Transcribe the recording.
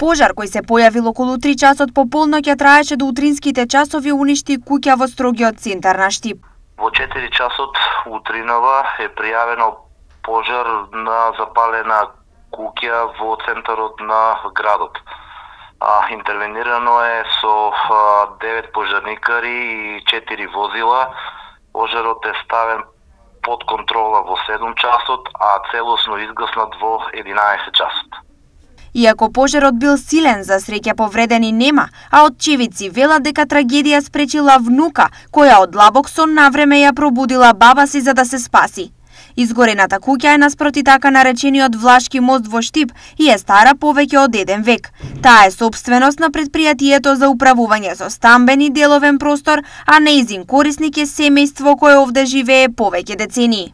Пожар кој се појавил околу 3 часот по полноќ ја траеше до утринските часови, уништи куќа во строгиот центар на Штип. Во 4 часот утринава е пријавено пожар на запалена куќа во центарот на градот. Интервенирано е со 9 пожарникари и 4 возила. Пожарот е ставен под контрола во 7 часот, а целосно изгаснат во 11 часот. Иако пожарот бил силен, за среќа повредени нема, а очевидци велат дека трагедија спречила внука, која од длабок сон навреме ја пробудила баба си за да се спаси. Изгорената куќа е наспроти така наречениот Влашки мост во Штип и е стара повеќе од 1 век. Таа е сопственост на претпријатието за управување со стамбен и деловен простор, а нејзин корисник е семејство кое овде живее повеќе децении.